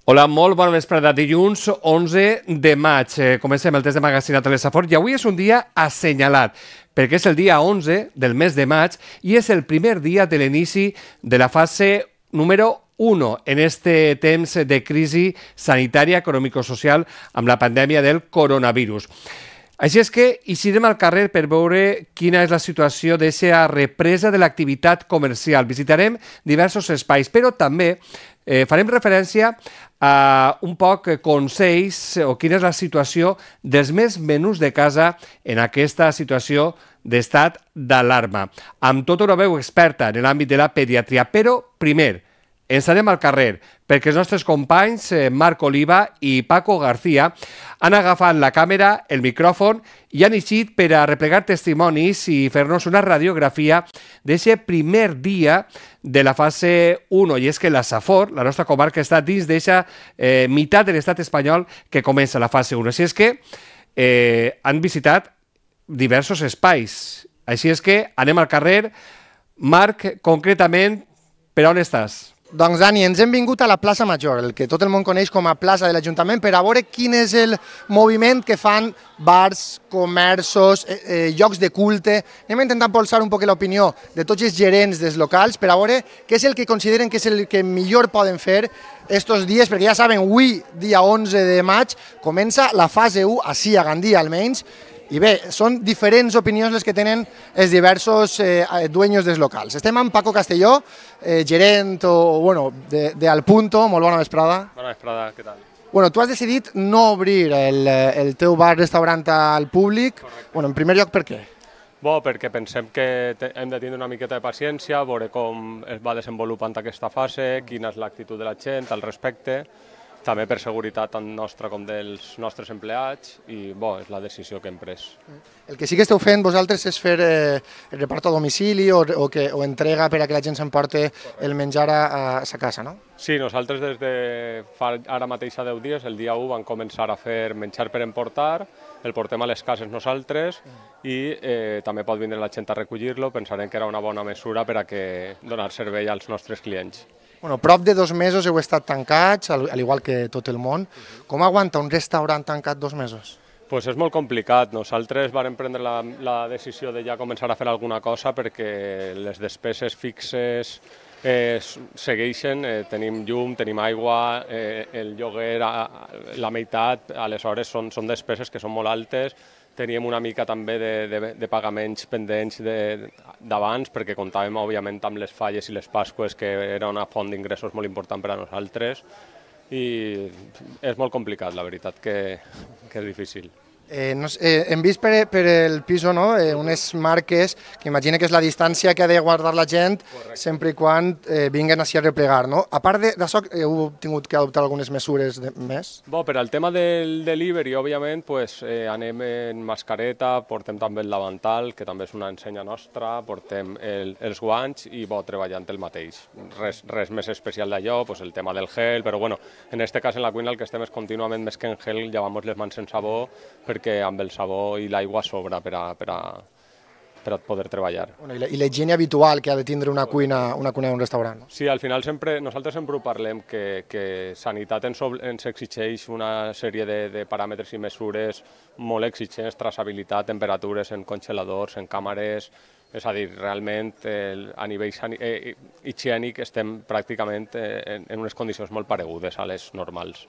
Hola, molt bona vesprada. Dilluns 11 de maig. Comencem el test de Magazine a Telesafor i avui és un dia assenyalat perquè és el dia 11 del mes de maig i és el primer dia de l'inici de la fase número 1 en este temps de crisi sanitària, econòmico-social amb la pandèmia del coronavirus. Així és que eixirem al carrer per veure quina és la situació d'aquesta represa de l'activitat comercial. Visitarem diversos espais, però també farem referència a un poc consells o quina és la situació dels més menús de casa en aquesta situació d'estat d'alarma. Amb tota una veu experta en l'àmbit de la pediatria, però primer ens anem al carrer perquè els nostres companys Marc Oliva i Paco García han agafat la càmera, el micròfon i han eixit per a replegar testimonis i fer-nos una radiografia d'aquest primer dia de la fase 1. I és que la Safor, la nostra comarca, està dins d'aquesta meitat de l'estat espanyol que comença la fase 1. Així és que han visitat diversos espais. Així és que anem al carrer. Marc, concretament, per on estàs? Doncs, Dani, ens hem vingut a la plaça Major, el que tot el món coneix com a plaça de l'Ajuntament, per a veure quin és el moviment que fan bars, comerços, llocs de culte. Anem a intentar polsar un poc l'opinió de tots els gerents dels locals per a veure què és el que consideren que és el que millor poden fer estos dies, perquè ja saben, avui, dia 11 de maig, comença la fase 1, així a Gandia almenys. I bé, són diferents opinions les que tenen els diversos dueños dels locals. Estem amb Paco Castelló, gerent de Al Punto. Molt bona vesprada. Bona vesprada, què tal? Tu has decidit no obrir el teu bar-restaurant al públic. En primer lloc, per què? Perquè pensem que hem de tindre una miqueta de paciència, veure com es va desenvolupant aquesta fase, quina és l'actitud de la gent al respecte, també per seguretat tant nostra com dels nostres empleats, i és la decisió que hem pres. El que sí que esteu fent vosaltres és fer repart a domicili o entrega per a que la gent s'emporti el menjar a sa casa, no? Sí, nosaltres des de fa ara mateix a 10 dies, el dia 1, vam començar a fer menjar per emportar, el portem a les cases nosaltres i també pot vindre la gent a recollir-lo. Pensarem que era una bona mesura per a donar servei als nostres clients. Prop de 2 mesos heu estat tancats, al igual que tot el món. Com aguanta un restaurant tancat 2 mesos? És molt complicat. Nosaltres vam prendre la decisió de ja començar a fer alguna cosa perquè les despeses fixes segueixen, tenim llum, tenim aigua, el lloguer, la meitat, aleshores són despeses que són molt altes. Teníem una mica també de pagaments pendents d'abans perquè comptàvem, òbviament, amb les falles i les Pasques, que era una font d'ingressos molt important per a nosaltres, i és molt complicat, la veritat, que és difícil. Hem vist per el pis unes marques que imagina que és la distància que ha de guardar la gent sempre i quan vinguen així a replegar. A part d'això, heu tingut que adoptar algunes mesures més? Per al tema del delivery, òbviament, anem en mascareta, portem també el davantal, que també és una ensenya nostra, portem els guants i treballant el mateix. Res més especial d'allò, el tema del gel, però en aquest cas en la cuina el que estem és contínuament, més que en gel, llavamos les mans en sabó, perquè amb el sabó i l'aigua sobra per a poder treballar. I la higiene habitual que ha de tindre una cuina d'un restaurant. Sí, al final nosaltres sempre ho parlem, que sanitat ens exigeix una sèrie de paràmetres i mesures molt exigents, traçabilitat, temperatures en congeladors, en càmeres. És a dir, realment a nivell higiènic estem pràcticament en unes condicions molt paregudes a les normals.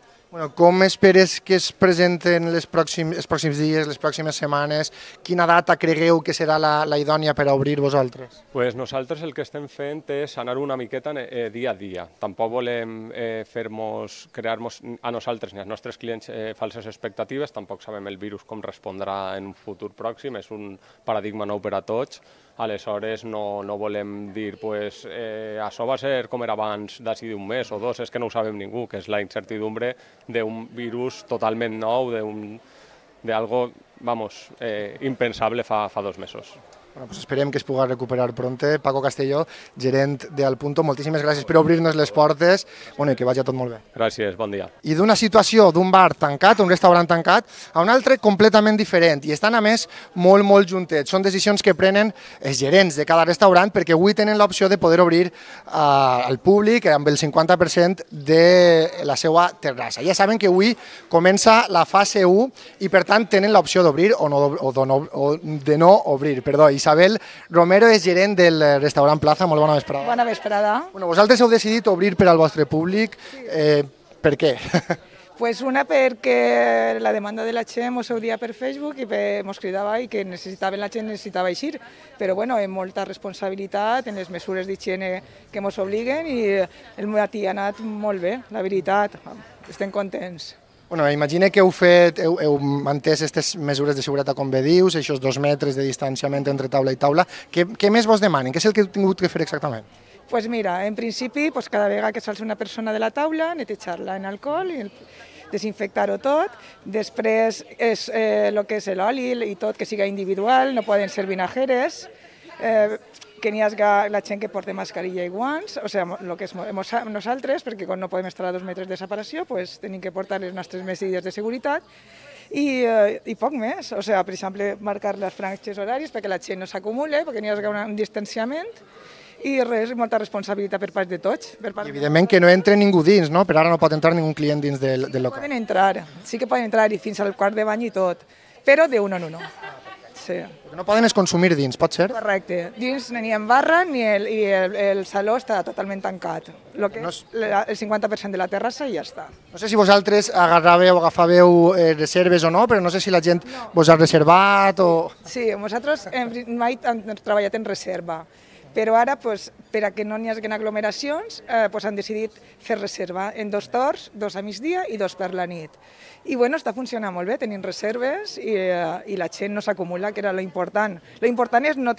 Com esperes que es presenten els pròxims dies, les pròximes setmanes? Quina data cregueu que serà la idònia per a obrir vosaltres? Nosaltres el que estem fent és anar una miqueta dia a dia. Tampoc volem crear-nos a nosaltres ni als nostres clients falses expectatives, tampoc sabem el virus com respondrà en un futur pròxim, és un paradigma nou per a tots. Aleshores no volem dir això va ser com era abans d'ací d'un mes o 2, és que no ho sabem ningú, que és la incertidumbre d'un virus totalment nou, d'algo impensable fa 2 mesos. Bueno, pues esperem que es pugui recuperar pronte. Paco Castelló, gerent d'Al Punto, moltíssimes gràcies per obrir-nos les portes, bueno, i que vagi tot molt bé. Gràcies, bon dia. I d'una situació d'un bar tancat, un restaurant tancat, a un altre completament diferent, i estan a més molt juntets. Són decisions que prenen els gerents de cada restaurant perquè avui tenen l'opció de poder obrir al públic amb el 50% de la seva terrassa. Ja saben que avui comença la fase 1 i per tant tenen l'opció d'obrir o de no obrir. Perdó, Isabel Romero és gerent del restaurant Plaza. Molt bona vesprada. Bona vesprada. Bueno, vosaltres heu decidit obrir per al vostre públic. Per què? Pues una perquè la demanda de la gent mos ho dia per Facebook i mos cridava i que la gent necessitava eixir. Però bueno, amb molta responsabilitat en les mesures d'higiene que mos obliguen i el matí ha anat molt bé, la veritat. Estem contents. Bueno, imagine que heu mantès aquestes mesures de seguretat, com bé dius, aquests 2 metres de distanciament entre taula i taula. Què més vos demanen? Què és el que heu tingut que fer exactament? Pues mira, en principi, cada vegada que s'alça una persona de la taula, netejar-la en alcohol i desinfectar-ho tot. Després, el que és l'oli i tot, que siga individual, no poden ser vinajeres, que n'hi hagi la gent que porta mascarilla i guants, o sigui, el que és nosaltres, perquè quan no podem estar a 2 metres de separació, pues, tenim que portar les nostres mesures de seguretat i poc més. O sigui, per exemple, marcar les franges horàries perquè la gent no s'acumuli, perquè n'hi hagi un distanciament i res, molta responsabilitat per part de tots. I evidentment que no entra ningú dins, no? Per ara no pot entrar ningú client dins del local. Poden entrar, sí que poden entrar i fins al quart de bany i tot, però de uno en uno. Sí. El que no poden és consumir dins, pot ser? Correcte. Dins ni en barra ni el saló està totalment tancat. El 50% de la terrassa i ja està. No sé si vosaltres agafàveu reserves o no, però no sé si la gent vos ha reservat o... Sí, nosaltres mai hem treballat en reserva, però ara, per a que no n'hi hagi aglomeracions, han decidit fer reserva en 2 torns, 2 a migdia i 2 per la nit. I bueno, està funcionant molt bé, tenim reserves i la gent no s'acumula, que era l'important. L'important és no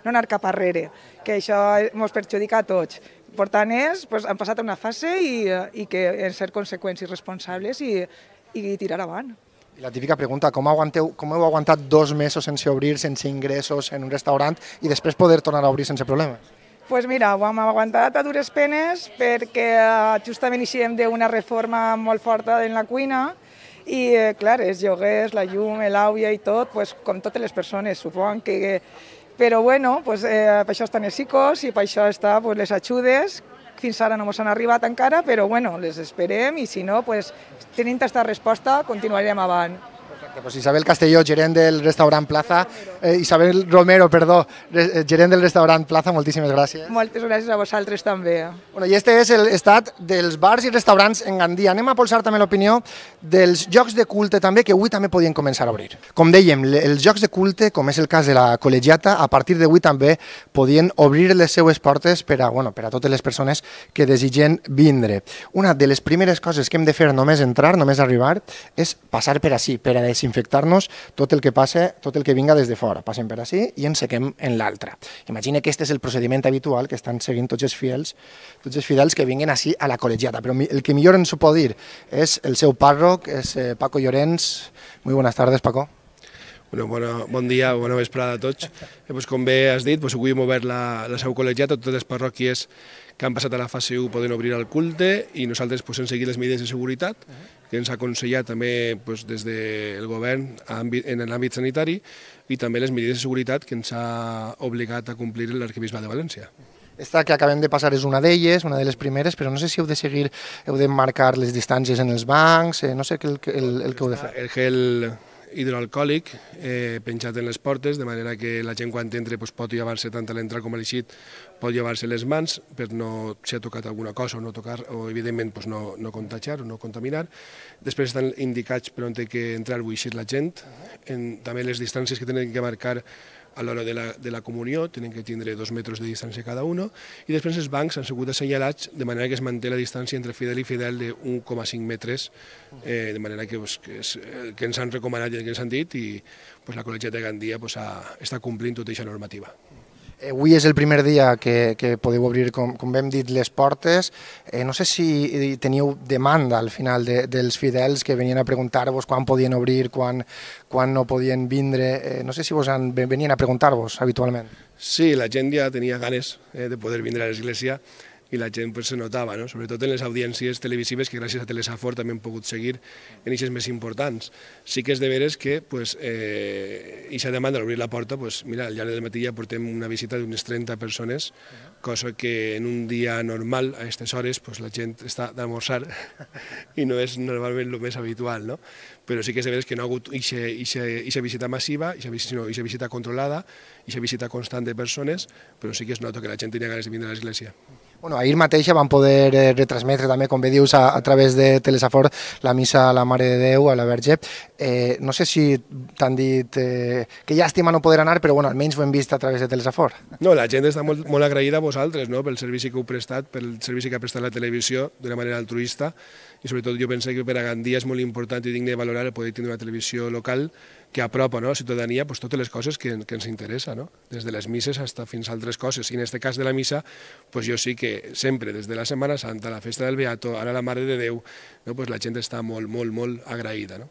anar cap arrere, que això ens perjudica a tots. L'important és, hem passat a una fase i que ser conseqüents i responsables i tirar avant. I la típica pregunta, com heu aguantat 2 mesos sense obrir, sense ingressos en un restaurant i després poder tornar a obrir sense problemes? Doncs mira, ho hem aguantat a dures penes perquè justament eixíem d'una reforma molt forta en la cuina i, clar, els lloguers, la llum, l'aigua i tot, com totes les persones, suposo que... Però, bueno, per això estan els psicos i per això estan les ajudes. Fins ara no ens han arribat encara, però bueno, les esperem i si no, tenint aquesta resposta, continuarem avant. Pues Isabel Castelló, gerent del restaurant Plaza, Isabel Romero, perdó, gerent del restaurant Plaza, moltíssimes gràcies. Moltes gràcies a vosaltres també. Bueno, i este és l'estat dels bars i restaurants en Gandia. Anem a polsar també l'opinió dels jocs de culte també, que avui també podien començar a obrir. Com dèiem, els jocs de culte, com és el cas de la Col·legiata, a partir d'avui també podien obrir les seues portes per a totes les persones que desitgen vindre. Una de les primeres coses que hem de fer només entrar, només arribar, és passar per ací, per a desinfectar-nos tot el que passa, tot el que vinga des de fora. Passem per ací i ens sequem en l'altra. Imagina que aquest és el procediment habitual que estan seguint tots els fidels que vinguen ací a la Col·legiata. Però el que millor ens ho pot dir és el seu pàrroc, és Paco Llorens. Muy buenas tardes, Paco. Bon dia, bona vesprada a tots. Com bé has dit, avui hem obert la seu col·legiata, totes les parròquies que han passat a la fase 1 poden obrir el culte i nosaltres hem seguit les mesures de seguretat que ens ha aconsellat també des del govern en l'àmbit sanitari i també les mesures de seguretat que ens ha obligat a complir l'arquebisbat de València. Esta que acabem de passar és una d'elles, una de les primeres, però no sé si heu de seguir, heu de marcar les distàncies en els bancs, no sé el que heu de fer. El gel hidroalcohòlic penjat en les portes, de manera que la gent quan entra pot llevar-se tant a l'entrar com a l'eixit, pot llevar-se les mans per no si ha tocat alguna cosa o evidentment no contagiar o no contaminar. Després estan indicats per on té que entrar o eixir la gent, també les distàncies que tenen que marcar a l'hora de la comunió, tenen que tindre 2 metres de distància cada un, i després els bancs han sigut assenyalats de manera que es manté la distància entre fidel i fidel de 1,5 metres, de manera que ens han recomanat i que ens han dit, i la Col·legiata de Gandia està complint tota aquesta normativa. Avui és el primer dia que podeu obrir, com hem dit, les portes. No sé si teniu demanda al final dels fidels que venien a preguntar-vos quan podien obrir, quan no podien vindre. No sé si venien a preguntar-vos habitualment. Sí, la gent ja tenia ganes de poder vindre a l'església i la gent se notava, sobretot en les audiències televisives que gràcies a Telesafor també hem pogut seguir en eixes més importants. Sí que és de veres que aquesta demanda d'obrir la porta, mira, al llarg del matí ja portem una visita d'unes 30 persones, cosa que en un dia normal, a aquestes hores, la gent està d'almorzar i no és normalment el més habitual, però sí que és de veres que no ha hagut aquesta visita massiva, sinó aquesta visita controlada, aquesta visita constant de persones, però sí que es nota que la gent tenia ganes de vindre a l'església. Ahir mateix vam poder retransmetre també, com bé dius, a través de Telesafor, la missa a la Mare de Déu, a la Verge. No sé si t'han dit que llàstima no poder anar, però almenys ho hem vist a través de Telesafor. No, la gent està molt agraïda a vosaltres pel servici que heu prestat, pel servici que ha prestat la televisió d'una manera altruista, i sobretot jo penso que per a Gandia és molt important i digne de valorar el poder tenir una televisió local que apropa a la ciutadania totes les coses que ens interessa, des de les misses fins a altres coses. I en aquest cas de la missa, jo sí que sempre, des de la Setmana Santa, la festa del Beato, ara la Mare de Déu, la gent està molt, molt, molt agraïda.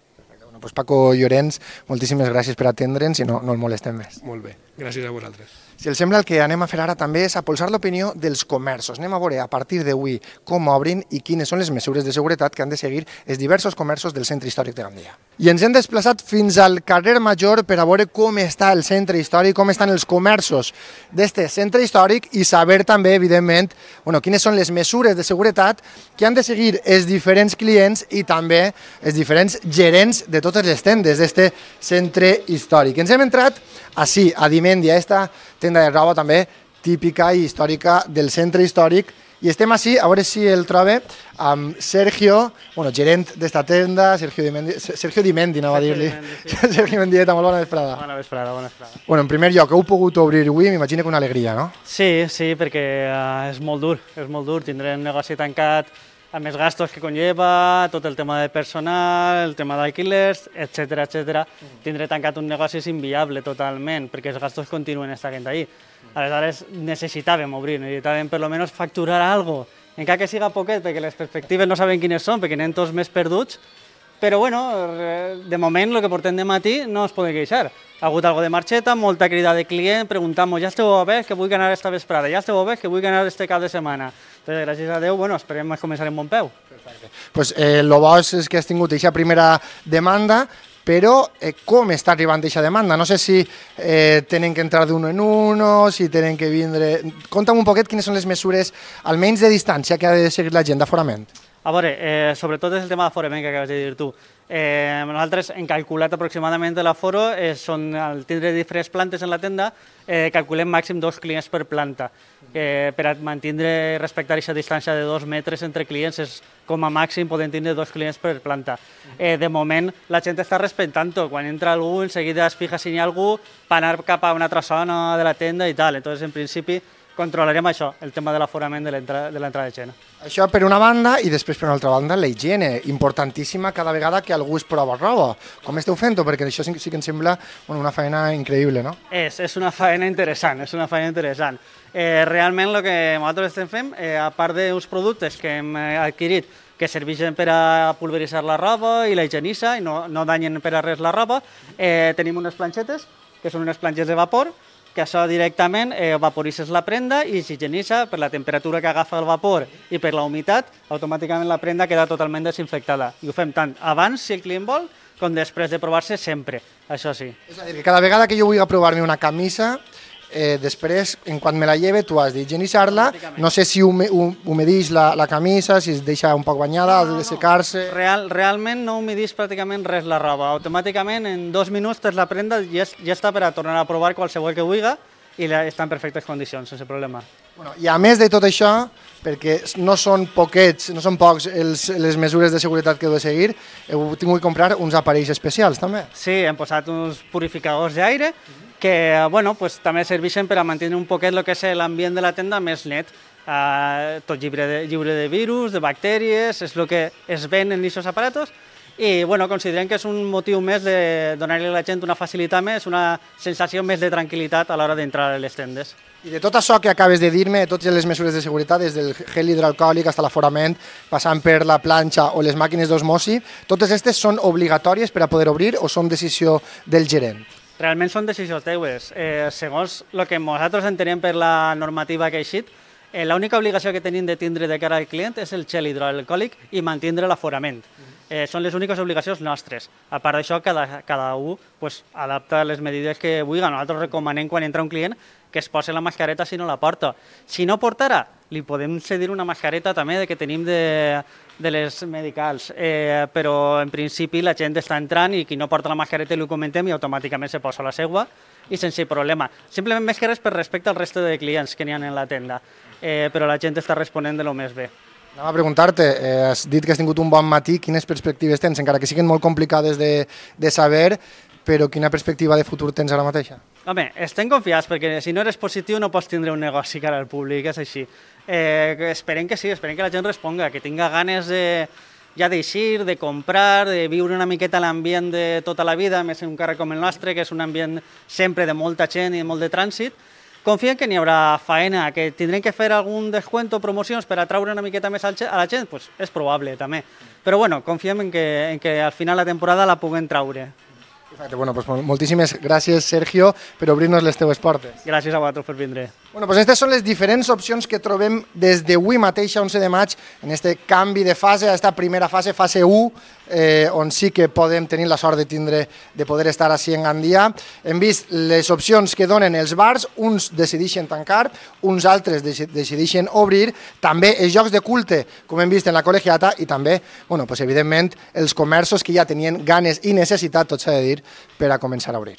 Paco Llorenç, moltíssimes gràcies per atendre'ns i no el molestem més. Molt bé, gràcies a vosaltres. Si els sembla, el que anem a fer ara també és apolsar l'opinió dels comerços. Anem a veure a partir d'avui com obrin i quines són les mesures de seguretat que han de seguir els diversos comerços del centre històric de Gandia. I ens hem desplaçat fins al carrer Major per a veure com està el centre històric, com estan els comerços d'aquest centre històric i saber també, evidentment, quines són les mesures de seguretat que han de seguir els diferents clients i també els diferents gerents de totes les tendes d'aquest centre històric. Ens hem entrat així, a Dimendia, aquesta tenda de roba també típica i històrica del centre històric, i estem així, a veure si el trobe, amb Sergio, gerent d'esta tenda, Sergio Dimendi, anava a dir-li. Sergio Mendieta, molt bona vesprada. Bona vesprada, bona vesprada. En primer lloc, heu pogut obrir avui, m'imagino que una alegria, no? Sí, perquè és molt dur, tindrem un negoci tancat, amb els gastos que conlleva, tot el tema de personal, el tema d'alquilers, etc. Tindré tancat un negoci és inviable totalment, perquè els gastos continuen estant ahí. Aleshores necessitàvem obrir, necessitàvem per almenys facturar alguna cosa, encara que siga poquet, perquè les perspectives no sabem quines són, perquè anem tots més perduts, però de moment el que portem de matí no es pot queixar. Ha hagut alguna de marxeta, molta crida de client, preguntant-nos, ja esteu a veure que vull anar esta vesprada, ja esteu a veure que vull anar este cap de setmana. Entonces, gràcies a Déu, esperem començar en bon peu. El bo és que has tingut aquesta primera demanda, però com està arribant aquesta demanda? No sé si tenen que entrar d'uno en uno, si tenen que vindre... Conta'm un poquet quines són les mesures, almenys de distància, que ha de seguir la gent d'aforament. A veure, sobretot és el tema d'aforament que acabes de dir tu. Nosaltres hem calculat aproximadament l'aforo, al tindre diferents plantes en la tenda, calculem màxim 2 clients per planta. Per a mantenir i respectar aquesta distància de 2 metres entre clients, com a màxim podem tindre 2 clients per planta. De moment la gent està respectant-ho, quan entra algú en seguida es fija si hi ha algú per anar cap a una altra zona de la tenda i tal. Entonces, en principi, controlarem això, el tema de l'aforament de l'entrada de gent. Això per una banda, i després per una altra banda la higiene, importantíssima cada vegada que algú es prova roba. Com esteu fent-ho? Perquè això sí que em sembla una feina increïble, no? És una feina interessant, Realment el que nosaltres estem fent, a part d'uns productes que hem adquirit que serveixen per a pulveritzar la roba i la higienitza i no danyen per a res la roba, tenim unes planxetes, que són unes planxes de vapor, que això directament vaporitzes la prenda i s'higienitza per la temperatura que agafa el vapor i per la humitat, automàticament la prenda queda totalment desinfectada. I ho fem tant abans, si el client vol, com després de provar-se sempre, això sí. És a dir, que cada vegada que jo vull provar-me una camisa, després, en quan me la lleve, tu has d'higienitzar-la, no sé si humedix la camisa, si es deixa un poc banyada, ha de secar-se... Realment no humedix pràcticament res la roba, automàticament en 2 minuts tens la prenda i ja està per a tornar a provar qualsevol que vulgui i està en perfectes condicions, sense problema. I a més de tot això, perquè no són pocs les mesures de seguretat que heu de seguir, heu tingut que comprar uns aparells especials també. Sí, hem posat uns purificadors d'aire que també serveixen per a mantenir un poquet el que és l'ambient de la tenda més net. Tot lliure de virus, de bactèries, és el que es ven en aquests aparatos i bueno, considerem que és un motiu més de donar-li a la gent una facilitat més, una sensació més de tranquil·litat a l'hora d'entrar a les tendes. I de tot això que acabes de dir-me, totes les mesures de seguretat, des del gel hidroalcohòlic fins a l'aforament, passant per la planxa o les màquines d'osmosi, totes aquestes són obligatòries per a poder obrir o són decisió del gerent? Realment són decisions teues. Segons el que nosaltres entenem per la normativa que ha eixit, l'única obligació que tenim de tindre de cara al client és el gel hidroalcohòlic i mantindre l'aforament. Són les úniques obligacions nostres. A part d'això, cada un adapta les medides que vulgui. Nosaltres recomanem quan entra un client que es posi la mascareta si no la porta. Si no portarà, li podem cedir una mascareta també que tenim de les medicals, però en principi la gent està entrant i qui no porta la mascareta li comentem i automàticament se posa la seva i sense problema. Simplement més que res per respecte al reste de clients que n'hi ha en la tenda, però la gent està responent de lo més bé. Anem a preguntar-te, has dit que has tingut un bon matí, quines perspectives tens, encara que siguin molt complicades de saber, però quina perspectiva de futur tens ara mateixa? Home, estem confiats, perquè si no eres positiu no pots tindre un negoci cara al públic, és així. Esperem que sí, esperem que la gent responga, que tinga ganes ja d'eixir, de comprar, de viure una miqueta l'ambient de tota la vida, més en un carrer com el nostre, que és un ambient sempre de molta gent i de molt de trànsit. Confiem que n'hi haurà faena, que tindrem que fer algun descuento o promocions per atraure una miqueta més a la gent, doncs és probable també. Però bueno, confiem en que al final la temporada la puguem traure. Perfecte, bueno, pues moltíssimes gràcies, Sergio, per obrir-nos les teves portes. Gràcies a vosaltres per vindre. Bueno, pues aquestes són les diferents opcions que trobem des d'avui mateix, 11 de maig, en aquest canvi de fase, aquesta primera fase, fase 1, on sí que podem tenir la sort de poder estar així en Gandia. Hem vist les opcions que donen els bars, uns decideixen tancar, uns altres decideixen obrir, també els jocs de culte, com hem vist en la col·legiata, i també, bueno, pues evidentment, els comerços que ja tenien ganes i necessitat, tot s'ha de dir, per a començar a obrir.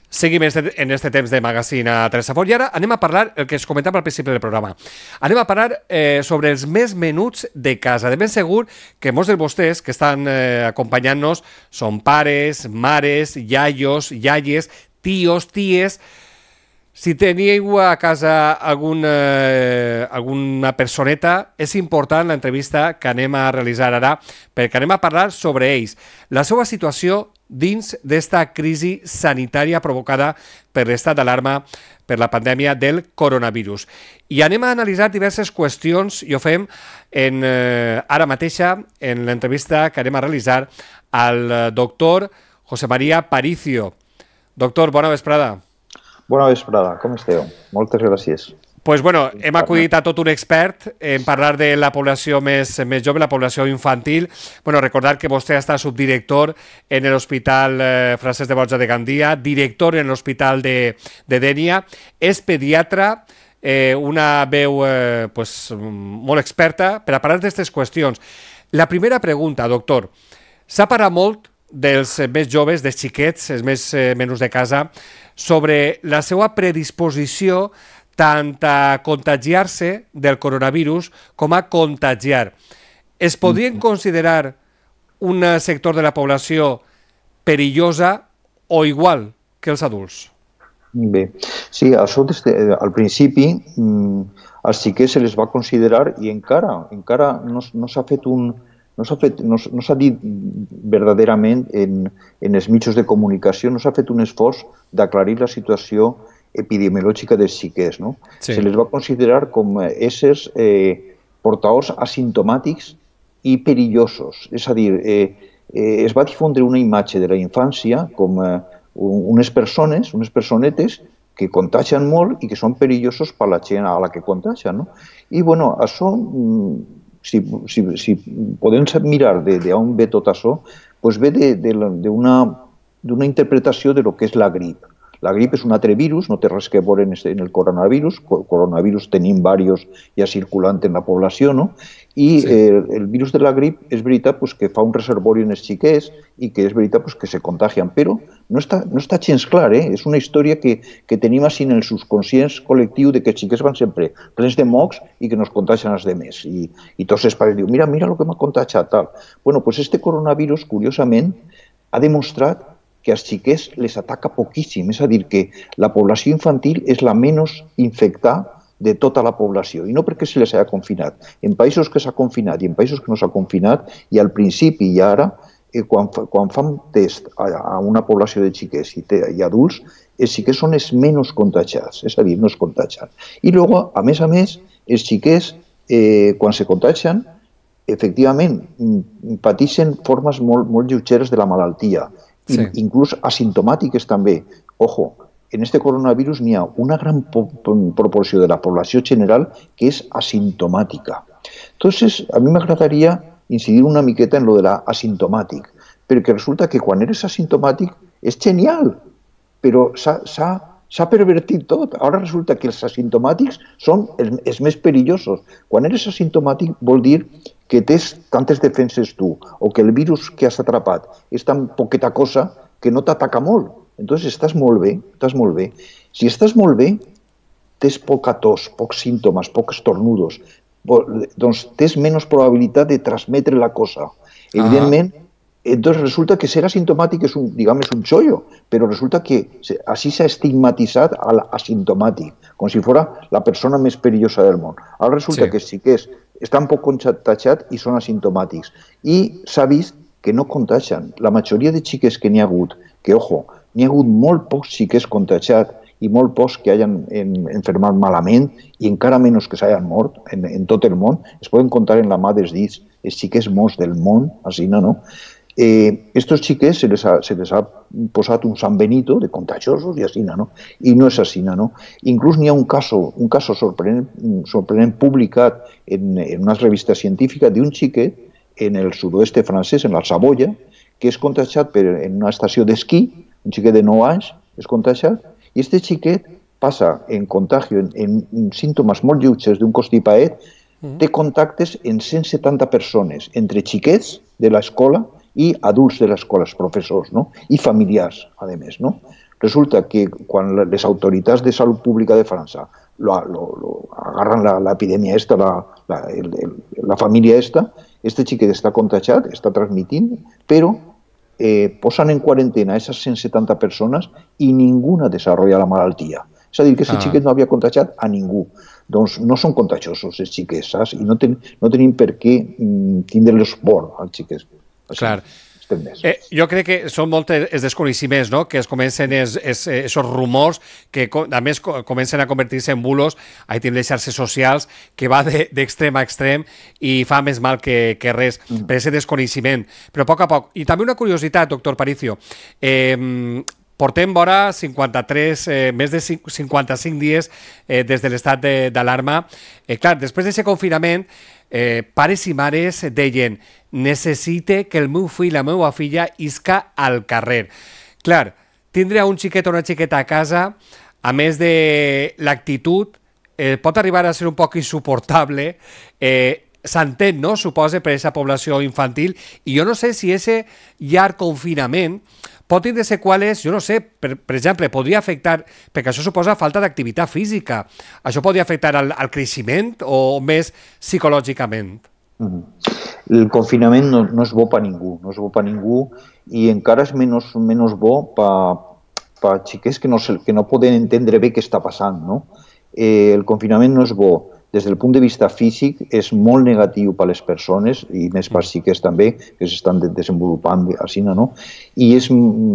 Seguim en este temps de magazine a Telesafort i ara anem a parlar, el que es comentava al principi del programa, anem a parlar sobre els més menuts de casa. De ben segur que molts de vostès que estan acompanyant-nos són pares, mares, iaios, iaies, tios, ties. Si teniu a casa alguna personeta, és important l'entrevista que anem a realitzar ara, perquè anem a parlar sobre ells, la seva situació dins d'esta crisi sanitària provocada per l'estat d'alarma per la pandèmia del coronavirus. I anem a analitzar diverses qüestions i ho fem ara mateixa en l'entrevista que anem a realitzar al doctor José María Paricio. Doctor, bona vesprada. Bona vesprada, com esteu? Moltes gràcies. Pues bueno, hem acudit a tot un expert en parlar de la població més jove, la població infantil. Bueno, recordar que vostè està subdirector en l'Hospital Francesc de Borja de Gandia, director en l'Hospital de Dénia, és pediatra, una veu molt experta per a parlar d'aquestes qüestions. La primera pregunta, doctor. S'ha parlat molt dels més joves, dels xiquets, els més menús de casa, sobre la seva predisposició tant a contagiar-se del coronavirus com a contagiar. Es podrien considerar un sector de la població perillosa o igual que els adults? Bé, sí, això al principi als xiquets se les va considerar i encara no s'ha fet no s'ha dit verdaderament en els mitjans de comunicació, no s'ha fet un esforç d'aclarir la situació epidemiològica dels xiquets. Se les va considerar com éssers portadors asimptomàtics i perillosos. És a dir, es va difondre una imatge de la infància com unes personetes que contagien molt i que són perillosos per la gent a la que contagien. I, bueno, això, si podem mirar d'on ve tot això, ve d'una interpretació de lo que és la grip. La grip és un altre virus, no té res que veure en el coronavirus. Coronavirus tenim diversos ja circulant en la població, no? I el virus de la grip és veritat que fa un reservori en els xiquets i que és veritat que se contagien, però no està gens clar, és una història que tenim així en el subconscient col·lectiu de que els xiquets van sempre plens de mocs i que nos contagien els demés. I tots els pares diuen, mira el que m'ha contagiat, tal. Bueno, doncs este coronavirus, curiosament, ha demostrat que als xiquets les ataca poquíssim, és a dir, que la població infantil és la menys infectada de tota la població, i no perquè se les hagi confinat. En països que s'ha confinat i en països que no s'ha confinat, i al principi i ara, quan fan test a una població de xiquets i adults, els xiquets són els menys contagiats, és a dir, no es contagien. I després, a més, els xiquets, quan se contagien, efectivament, pateixen formes molt lleugeres de la malaltia, inclús asimptomàtiques també. Ojo, en este coronavirus n'hi ha una gran proporció de la població general que és asimptomàtica. Entonces, a mi m'agradaria incidir una miqueta en lo de l'asimptomàtic, perquè resulta que quan eres asimptomàtic és genial, però s'ha pervertit tot. Ara resulta que els asimptomàtics són els més perillosos. Quan eres asimptomàtic vol dir que tens tantes defenses tu, o que el virus que has atrapat és tan poqueta cosa que no t'ataca molt. Entonces estàs molt bé, estàs molt bé. Si estàs molt bé, tens poca tos, pocs símptomes, pocs estornudos, doncs tens menys probabilitat de transmetre la cosa. Evidentment, entonces resulta que ser asimptomàtic és un xollo, però resulta que així s'ha estigmatitzat a l'asimptomàtic, com si fos la persona més perillosa del món. Ara resulta que sí que estan poc contagiats i són asimptomàtics. I s'ha vist que no contagien. La majoria de xiques que n'hi ha hagut, que, ojo, n'hi ha hagut molt pocs xiquets contagiats i molt pocs que hagin enfermat malament i encara menys que s'hagin mort en tot el món, es poden comptar en la mà dels dits, els xiquets morts del món, així, no? Estos xiquets se les ha posat un San Benito de contagiosos i així, no? I no és així, no? Inclús n'hi ha un cas sorprenent publicat en una revista científica d'un xiquet en el sud-oest francès, en la Savoia, que és contagiat en una estació d'esquí, un xiquet de 9 anys és contagiat, i aquest xiquet passa en contagi, en símptomes molt lleugers d'un constipaet, té contactes amb 170 persones, entre xiquets de l'escola i adults de l'escola, els professors, i familiars, a més. Resulta que quan les autoritats de salut pública de França agarran l'epidèmia esta, la família esta, este xiquet està contagiat, està transmitint, però posen en quarantena aquestes 170 persones i ningú desenvolupa la malaltia. És a dir, que aquest xiquet no havia contagiat a ningú. Doncs no són contagiosos els xiquets, saps? I no tenim per què tindre-los por als xiquets. Clar. Jo crec que són molts els desconeixements, no?, que es comencen aquests rumors que a més comencen a convertir-se en bulos. Ahí tenim les xarxes socials que va d'extrem a extrem i fa més mal que res per aquest desconeixement. Però a poc. I també una curiositat, doctor Paricio. Portem vora més de 55 dies des de l'estat d'alarma. Clar, després d'aquest confinament, pares i mares deien: necessite que el meu fill, la meva filla, isca al carrer. Clar, tindre un xiquet o una xiqueta a casa, a més de l'actitud, pot arribar a ser un poc insuportable. S'entén, no?, suposa, per aquesta població infantil. I jo no sé si aquest llarg confinament pot tindre seqüeles, jo no sé, per exemple, podria afectar, perquè això suposa falta d'activitat física, això podria afectar al creixement o més psicològicament? El confinament no és bo per ningú, no és bo per ningú, i encara és menys bo per xiquets que no poden entendre bé què està passant, no? El confinament no és bo. Des del punt de vista físic és molt negatiu per a les persones i més per xiquets també, que s'estan desenvolupant així, no? I és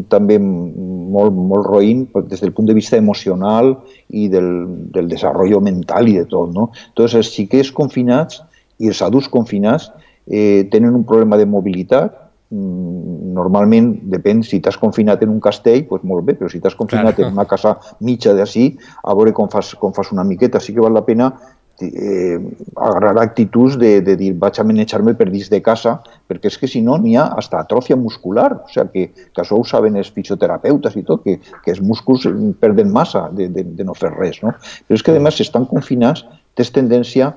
també molt roïn des del punt de vista emocional i del desenvolupament mental i de tot, no? Doncs els xiquets confinats i els adults confinats tenen un problema de mobilitat. Normalment, depèn, si t'has confinat en un castell, doncs molt bé, però si t'has confinat en una casa mitja d'ací, a veure com fas una miqueta. Sí que val la pena agarrar actituds de dir vaig a manejar-me per dins de casa, perquè és que si no n'hi ha hasta atròfia muscular, o sigui que això ho saben els fisioterapeutes i tot, que els músculs perden massa de no fer res, no? Però és que a més estan confinats, tens tendència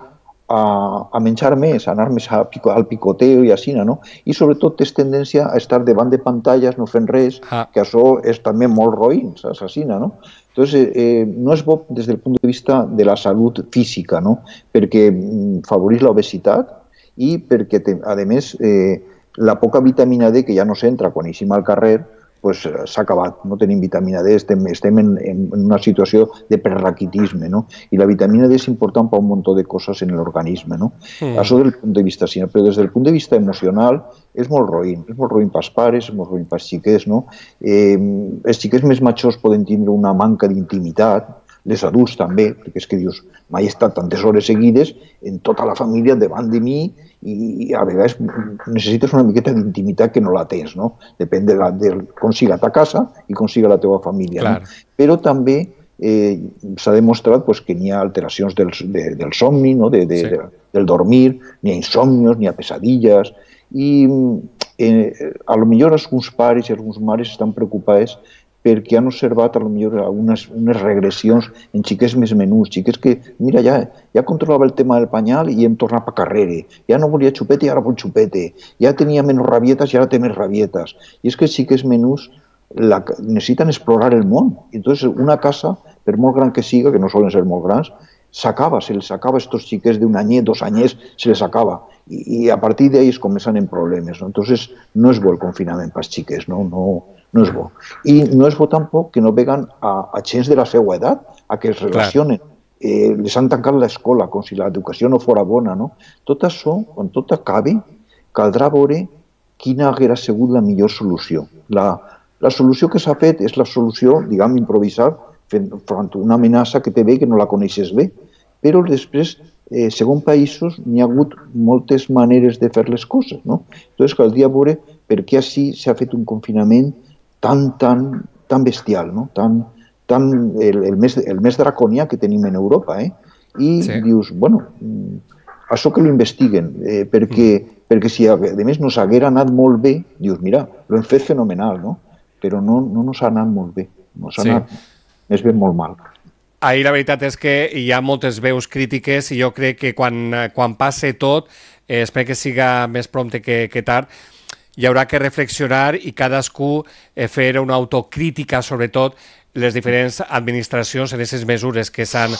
a menjar més, a anar més al picoteo i així, no? I sobretot tens tendència a estar davant de pantalles no fent res, que això és també molt roïn, saps, així, no? Entonces, no és bo des del punt de vista de la salut física, no? Perquè favoreix l'obesitat i perquè, a més, la poca vitamina D que ja no s'entra quan eixim al carrer, pues s'ha acabat, no tenim vitamina D, estem en una situació de preraquitisme, no? I la vitamina D és important per un munt de coses en l'organisme, no? Això des del punt de vista sinó, però des del punt de vista emocional és molt roïn pels pares, és molt roïn pels xiquets, no? Els xiquets més majors poden tindre una manca d'intimitat, les adults també, perquè és que dius, mai he estat tantes hores seguides en tota la família davant de mi i a vegades necessites una miqueta d'intimitat que no la tens, no? Depèn de com siga ta casa i com siga la teva família. No? Però també s'ha demostrat que n'hi ha alteracions del somni, no? Del dormir, n'hi ha insomnios, n'hi ha pesadilles, i potser alguns pares i algunes mares estan preocupats perquè han observat potser unes regressions en xiquets més menuts, xiquets que, mira, ja controlava el tema del panyal i hem tornat a carrere, ja no volia xupete i ara vol xupete, ja tenia menys rabietes i ara té més rabietes. I és que els xiquets menuts necessiten explorar el món. Entonces, una casa, per molt gran que siga, que no solen ser molt grans, s'acaba, se les acaba a estos xiquets d'un anyet, 2 anyets, se les acaba. I a partir d'ells comencen en problemes. Entonces, no és bo el confinament pels xiquets, no és bo. I no és bo tampoc que no veguen a gens de la seva edat a que es relacionen. Les han tancat l'escola, com si l'educació no fora bona. Tot això, quan tot acabi, caldrà veure quina hauria sigut la millor solució. La solució que s'ha fet és la solució, diguem, improvisar, front a una amenaça que té bé que no la coneixes bé. Però després, segons països, n'hi ha hagut moltes maneres de fer les coses. Llavors, caldria veure per què així s'ha fet un confinament tan bestial, el més draconià que tenim en Europa. I dius, bueno, això que l'investiguen, perquè si a més no s'haguera anat molt bé, dius, mira, l'hem fet fenomenal, però no s'ha anat molt bé, no s'ha anat més ben molt mal. Ahir la veritat és que hi ha moltes veus crítiques i jo crec que quan passe tot, espero que siga més prompte que tard, hi haurà que reflexionar i cadascú fer una autocrítica, sobretot les diferents administracions en aquestes mesures que s'han...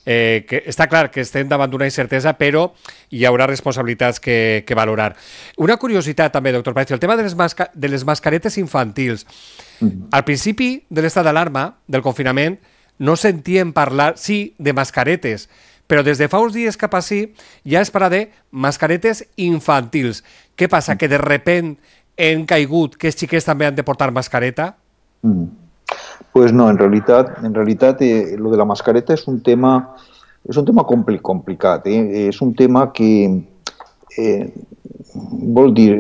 Està clar que estem davant d'una incertesa, però hi haurà responsabilitats que valorar. Una curiositat també, doctor Palacio, el tema de les mascaretes infantils. Al principi de l'estat d'alarma, del confinament, no sentíem parlar, sí, de mascaretes, però des de fa uns dies cap així ja es parla de mascaretes infantils. Què passa? Que de sobte hem caigut que els xiquets també han de portar mascareta? Pues no, en realitat, lo de la mascareta és un tema complicat. És un tema que vol dir,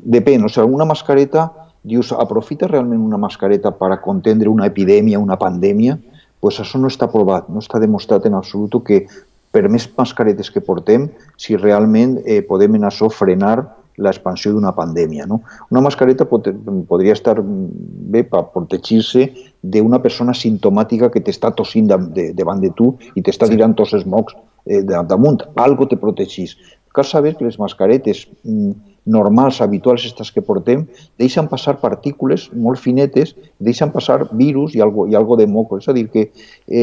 depèn, o sigui, una mascareta, dius, aprofita realment una mascareta per a contendre una epidèmia, una pandèmia? Pues això no està provat, no està demostrat en absolut que per més mascaretes que portem, si realment podem en això frenar l'expansió d'una pandèmia. Una mascareta podria estar bé per protegir-se d'una persona simptomàtica que t'està tossint davant de tu i t'està tirant tots els mocs damunt. Algo te protegís. Cal saber que les mascaretes normals, habituals, aquestes que portem, deixen passar partícules molt finetes, deixen passar virus i algo de moco. És a dir, que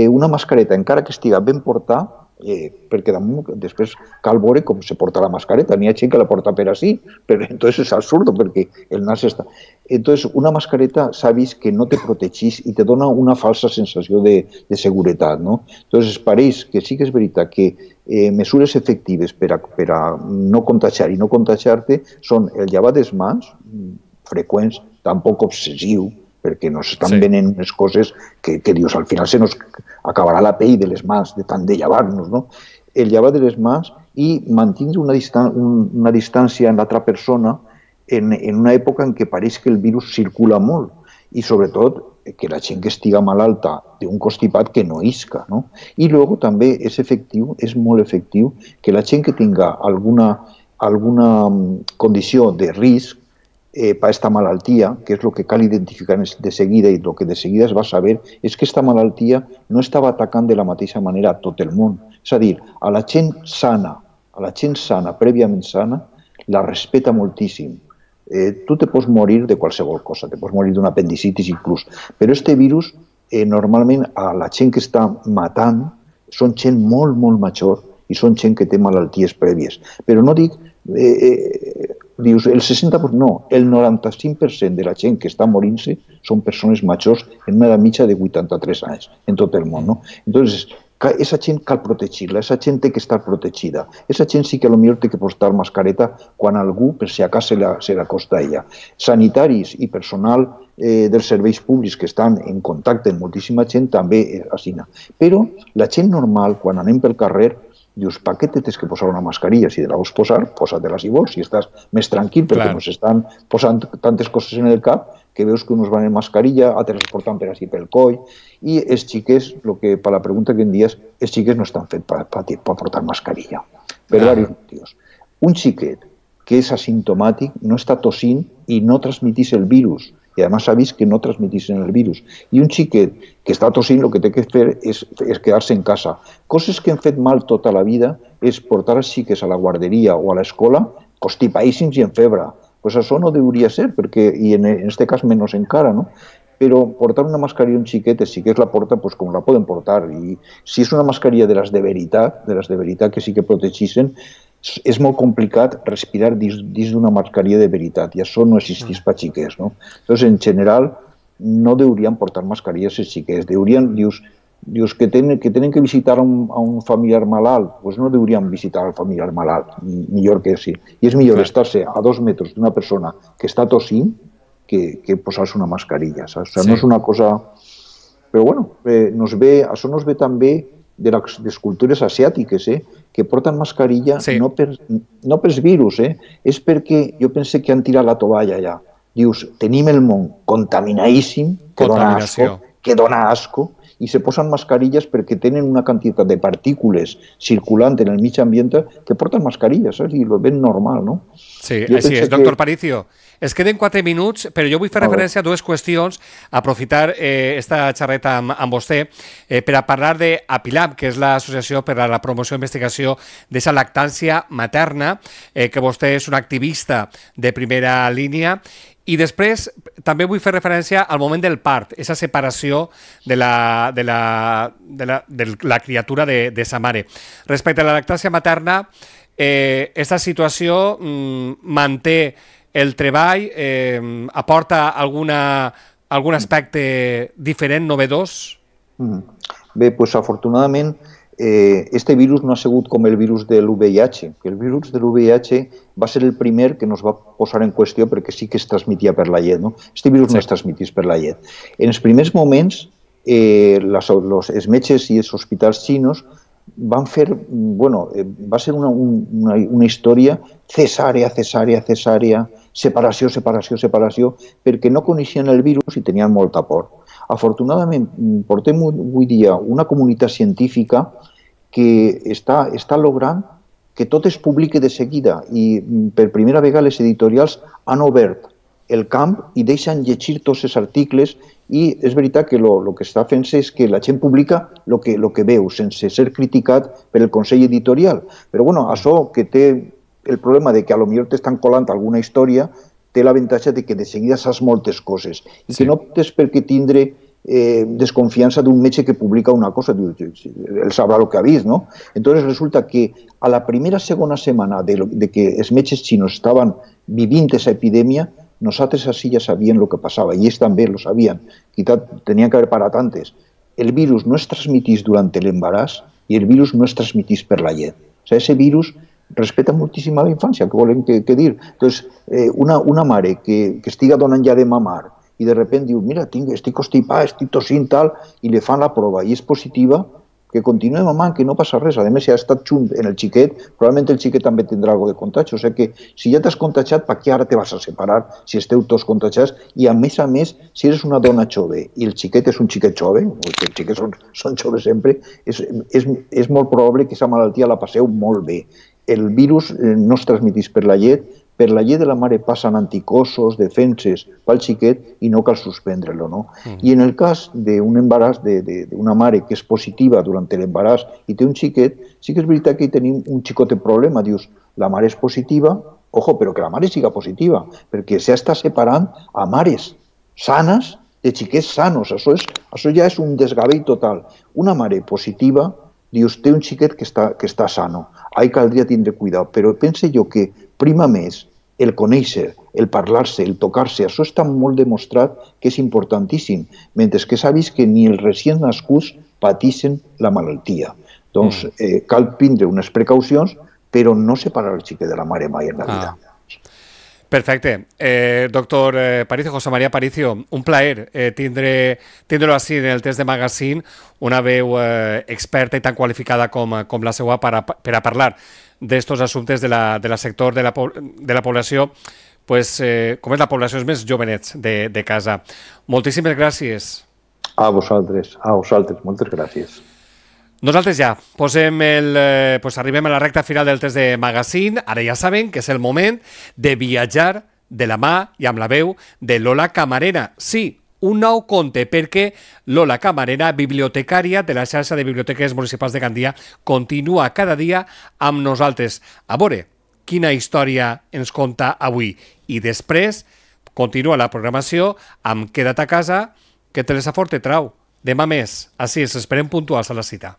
una mascareta, encara que estiga ben portada, perquè després cal veure com se porta la mascareta. N'hi ha gent que la porta per així, però entonces és absurd perquè el nas està... Entonces, una mascareta s'ha vist que no te protegís i te dona una falsa sensació de seguretat. Entonces, pareix que sí que és veritat que mesures efectives per a no contagiar i no contagiar-te són el llevar les mans, freqüents, tampoc obsessiu, perquè no s'estan venent unes coses que dius, al final se nos acabarà la pell de les mans de tant de llevar-nos, El llevar de les mans i mantindre una distància amb l'altra persona en una època en què pareix que el virus circula molt i, sobretot, que la gent que estiga malalta d'un constipat que no isca. I després també és efectiu, és molt efectiu, que la gent que tinga alguna condició de risc per aquesta malaltia, que és el que cal identificar de seguida i el que de seguida es va saber, és que aquesta malaltia no estava atacant de la mateixa manera a tot el món. És a dir, a la gent sana, prèviament sana, la respeta moltíssim. Tu te pots morir de qualsevol cosa, te pots morir d'una apendicitis inclús, però este virus normalment a la gent que està matant són gent molt, molt major i són gent que té malalties prèvies. Però no dic... Dius, el 60%, no, el 95% de la gent que està morint-se són persones majors en una edat mitja de 83 anys en tot el món, no? Entonces, esa gent cal protegir-la, esa gent té que estar protegida. Esa gent sí que potser té que portar mascareta quan algú, per si acaso, se l'acosta a ella. Sanitaris i personal dels serveis públics que estan en contacte amb moltíssima gent també assina. Però la gent normal, quan anem pel carrer, dius, per què t'has que posar una mascarilla? Si te la vols posar, posa-te-la si vols, si estàs més tranquil, perquè ens estan posant tantes coses en el cap que veus que uns van en mascarilla, altres es porten per així pel coll, i els xiquets, per la pregunta que em dies, els xiquets no estan fets per portar mascarilla, per diversos motius. Un xiquet que és asimptomàtic no està tossint i no transmetís el virus, i a més s'ha vist que no transmetixen el virus. I un xiquet que està tossint el que té que fer és quedar-se en casa. Coses que han fet mal tota la vida és portar els xiquets a la guarderia o a l'escola constipadíssims i en febre. Pues això no hauria ser, perquè, i en aquest cas menys encara, no? Però portar una mascarilla a un xiquet, els xiquets la porten com la poden portar. I si és una mascarilla de les de veritat que sí que protegeixen, és molt complicat respirar dins d'una mascarilla de veritat, i això no existeix per xiquets, no? Llavors, en general, no haurien portar mascarilles els xiquets. Dius que tenen que visitar a un familiar malalt, doncs no haurien visitar al familiar malalt, millor que sí. I és millor estar-se a 2 metres d'una persona que està tossint que posar-se una mascarilla. O sigui, no és una cosa... Però, bueno, això nos ve també de les cultures asiàtiques, que porten mascarilla no pels virus, és perquè jo pense que han tirat la tovalla allà. Dius, tenim el món contaminadíssim, que dona asco, i se posen mascarilles perquè tenen una quantitat de partícules circulant en el mig ambient que porten mascarilles, i ho ven normal, no? Sí, així és. Doctor Paricio, es queden 4 minuts, però jo vull fer referència a 2 qüestions, aprofitar esta xerreta amb vostè per a parlar d'APILAB, que és l'Associació per a la Promoció i Investigació d'aquesta lactància materna, que vostè és un activista de primera línia. I després també vull fer referència al moment del part, aquesta separació de la criatura de sa mare. Respecte a la lactància materna, aquesta situació manté el treball, aporta algun aspecte diferent, novedós? Bé, doncs afortunadament este virus no ha sigut com el virus de l'UVIH, que el virus de l'UVIH va ser el primer que nos va posar en qüestió perquè sí que es transmetia per la llet, no? Este virus no es transmetís per la llet. En els primers moments, els metges i els hospitals xinos van fer, va ser una història cesàrea, separació, perquè no coneixien el virus i tenien molta por. Afortunadament, portem avui dia una comunitat científica que està logrant que tot es publiqui de seguida i per primera vegada les editorials han obert el camp i deixen llegir tots els articles i és veritat que el que està fent-se és que la gent publica el que veu sense ser criticat per el Consell Editorial. Però això que té el problema de que potser t'estan colant alguna història té l'avantatge de que de seguida saps moltes coses i que no tens per què tindre desconfiança d'un metge que publica una cosa, ell sabrà el que ha vist, no? Entonces resulta que a la segona setmana de que els metges xinos estaven vivint aquesta epidèmia, nosaltres així ja sabíem el que passava, i ells també ho sabien, tenien que haver parat antes. El virus no es transmetís durant l'embaràs i el virus no es transmetís per la llet. O sigui, aquest virus respecta moltíssim a la infància, què volem que dir? Entonces, una mare que estiga donant ja de mamar i de repente diu, mira, estic constipat, estic tossint, tal, i li fan la prova i és positiva, que continuï mamant, que no passa res. A més, si ha estat junt en el xiquet, probablement el xiquet també tindrà alguna de contagi. O sigui que si ja t'has contagiat, per què ara te vas a separar si esteu tots contagiats? I a més, si eres una dona jove i el xiquet és un xiquet jove, perquè els xiquets són joves sempre, és molt probable que aquesta malaltia la passeu molt bé. El virus no es transmetís per la llet de la mare passen anticossos, defenses pel xiquet i no cal suspendre-lo, no? I en el cas d'un embaràs d'una mare que és positiva durant l'embaràs i té un xiquet, sí que és veritat que hi tenim un xicotet problema. Dius, la mare és positiva, ojo, però que la mare siga positiva, perquè s'està separant a mares sanes de xiquets sanos. Això ja és un desgavell total. Una mare positiva, dius, té un xiquet que està sano. Ahí caldria tindre cuidado, però pense jo que prima més el conèixer, el parlar-se, el tocar-se, això està molt demostrat que és importantíssim, mentre que s'ha vist que ni els recients nascuts patixen la malaltia. Doncs cal prendre unes precaucions, però no separar el xiquet de la mare mai en la vida. Perfecte. Doctor Paricio, José María Paricio, un plaer tindre-lo així en el test de Magazine, una veu experta i tan qualificada com la seva per a parlar d'estos assumptes del sector de la població, com és la població els més jovenets de casa. Moltíssimes gràcies. A vosaltres, moltes gràcies. Nosaltres ja arribem a la recta final del test de Magazine. Ara ja saben que és el moment de viatjar de la mà i amb la veu de Lola Camarena. Sí, un nou conte, perquè Lola Camarena, bibliotecària de la xarxa de biblioteques municipals de Gandia, continua cada dia amb nosaltres. A veure quina història ens conta avui. I després continua la programació amb Queda't a casa, que Telesafort te trau. Demà més. Així es, esperem puntuals a la cita.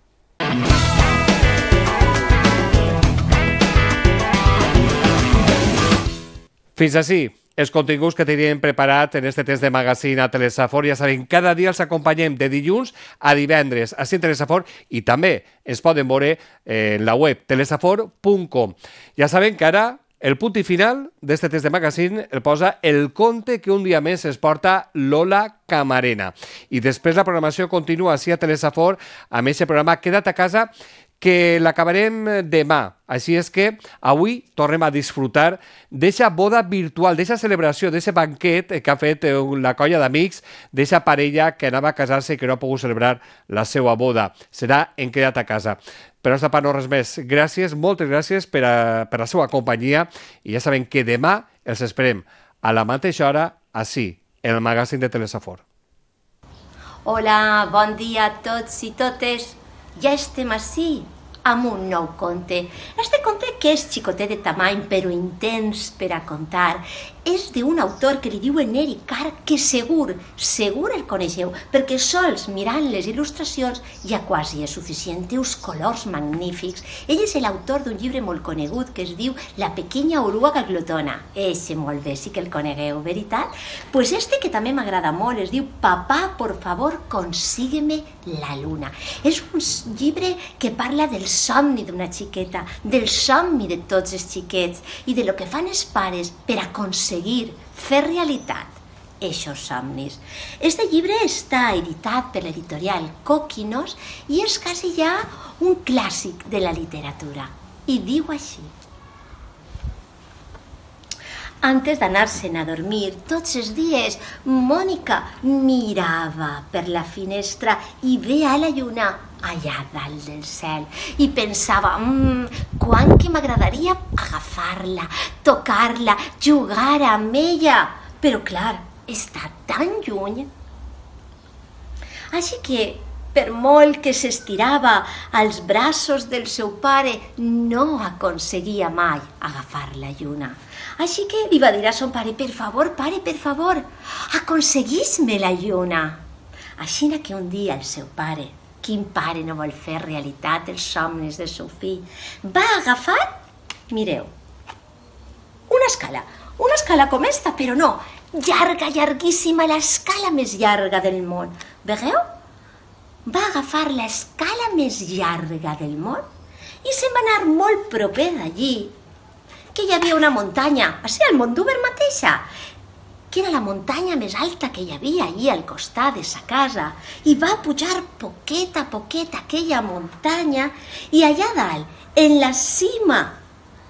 Fins així els continguts que teníem preparat en este test de Magazine a Telesafort. Ja saben, cada dia els acompanyem de dilluns a divendres així en Telesafort i també ens poden veure en la web telesafort.com. Ja saben que ara el punt i final d'este test de Magazine el posa el conte que un dia més es porta Lola Camarena. I després la programació continua així a Telesafort amb aquest programa Queda't a casa, que l'acabarem demà. Així és que avui tornem a disfrutar d'eixa boda virtual, d'eixa celebració, d'eixe banquet que ha fet la colla d'amics, d'eixa parella que anava a casar-se i que no ha pogut celebrar la seva boda. Serà en Queda't a casa. Per nostra part, no res més. Gràcies, moltes gràcies per la seva companyia i ja saben que demà els esperem a la mateixa hora, així, en el magazine de Telesafort. Hola, bon dia a tots i totes. Ja estem ací amb un nou conte. Este conte, que és xicotet de tamany però intens per a contar, és d'un autor que li diuen Eric Carr, que segur el coneixeu, perquè sols mirant les il·lustracions ja quasi és suficient, té uns colors magnífics. Ell és l'autor d'un llibre molt conegut que es diu La pequeña oruga glotona. Eixe molt bé, sí que el conegueu, veritat? Pues este que també m'agrada molt, es diu Papá, por favor, consígueme la luna. És un llibre que parla del somni d'una xiqueta, del somni de tots els xiquets i de lo que fan els pares per aconseguir fer realitat eixos somnis. Este llibre està editat per l'editorial Coquinos i és quasi ja un clàssic de la literatura. I diu així: antes d'anar-se'n a dormir, tots els dies, Mònica mirava per la finestra i veia la lluna allà dalt del cel i pensava, quant que m'agradaria agafar-la, tocar-la, jugar amb ella, però clar, està tan lluny. Així que, per molt que s'estirava als braços del seu pare, no aconseguia mai agafar la lluna. Així que li va dir a son pare, per favor, pare, per favor, aconseguís-me la lluna. Així que un dia el seu pare, quin pare no vol fer realitat els somnis del seu fill, va agafar, mireu, una escala com esta, però no, llarga, llarguíssima, l'escala més llarga del món. Vegeu? Va agafar l'escala més llarga del món i se'n va anar molt proper d'allí, que hi havia una muntanya, així al Mondúber mateixa, que era la muntanya més alta que hi havia allí al costat de sa casa, i va pujar poquet a poquet aquella muntanya, i allà dalt, en la cima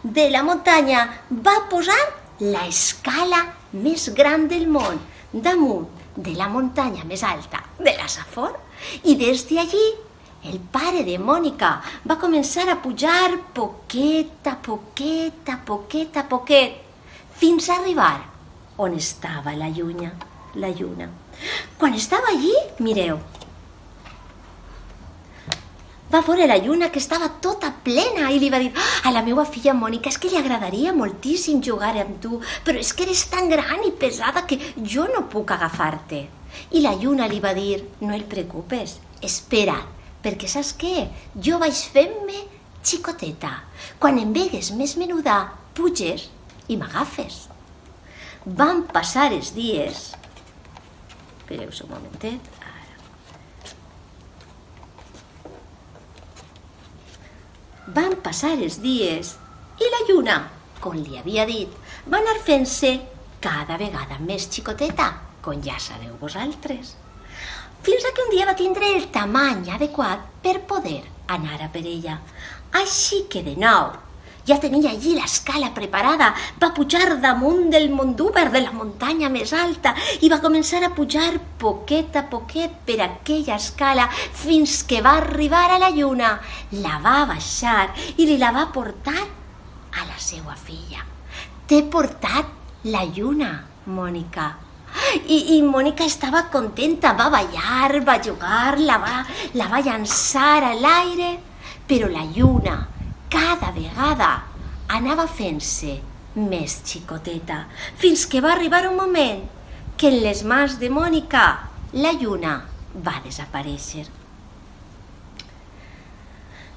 de la muntanya, va posar l'escala més gran del món, damunt de la muntanya més alta de la Safor, i des d'allí el pare de Mònica va començar a pujar poquet a poquet, a poquet a poquet, fins a arribar on estava la lluna. Quan estava allí, mireu, va veure la lluna que estava tota plena i li va dir a la meva filla Mònica, és que li agradaria moltíssim jugar amb tu, però és que eres tan gran i pesada que jo no puc agafar-te. I la lluna li va dir, no et preocupes, espera, perquè saps què? Jo vaig fent-me xicoteta. Quan em vegues més menuda, puges i m'agafes. Van passar els dies... Espereu un momentet. Van passar els dies i la lluna, com li havia dit, va anar fent-se cada vegada més xicoteta, com ja sabeu vosaltres. Fins que un dia va tindre el tamany adequat per poder anar a per ella. Així que de nou, ja tenia allí l'escala preparada, va pujar damunt del Mondúber, de la muntanya més alta, i va començar a pujar poquet a poquet per aquella escala fins que va arribar a la lluna. La va baixar i li la va portar a la seva filla. T'he portat la lluna, Mònica. I Mònica estava contenta, va ballar, va jugar, la va llançar a l'aire, però la lluna cada vegada anava fent-se més xicoteta, fins que va arribar un moment que en les mans de Mònica la lluna va desaparèixer.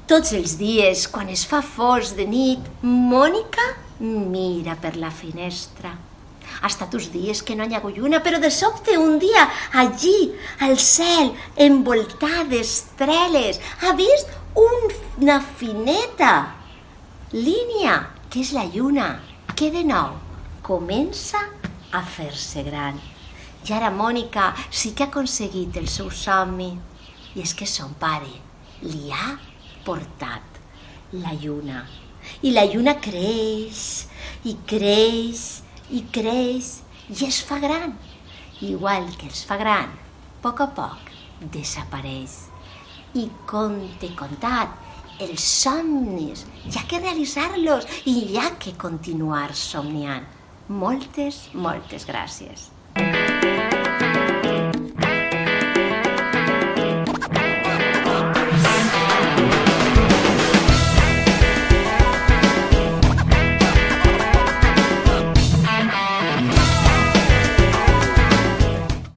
Tots els dies, quan es fa fosc de nit, Mònica mira per la finestra. Ha estat uns dies que no hi ha lluna, però de sobte un dia, allí, al cel, envoltat d'estreles, ha vist una fineta línia, que és la lluna, que de nou comença a fer-se gran. I ara Mònica sí que ha aconseguit el seu somni, i és que son pare li ha portat la lluna. I la lluna creix, i creix, i creix, i es fa gran. Igual que es fa gran, a poc desapareix. I com t'he contat, els somnis, hi ha que realitzar-los i hi ha que continuar somniant. Moltes gràcies.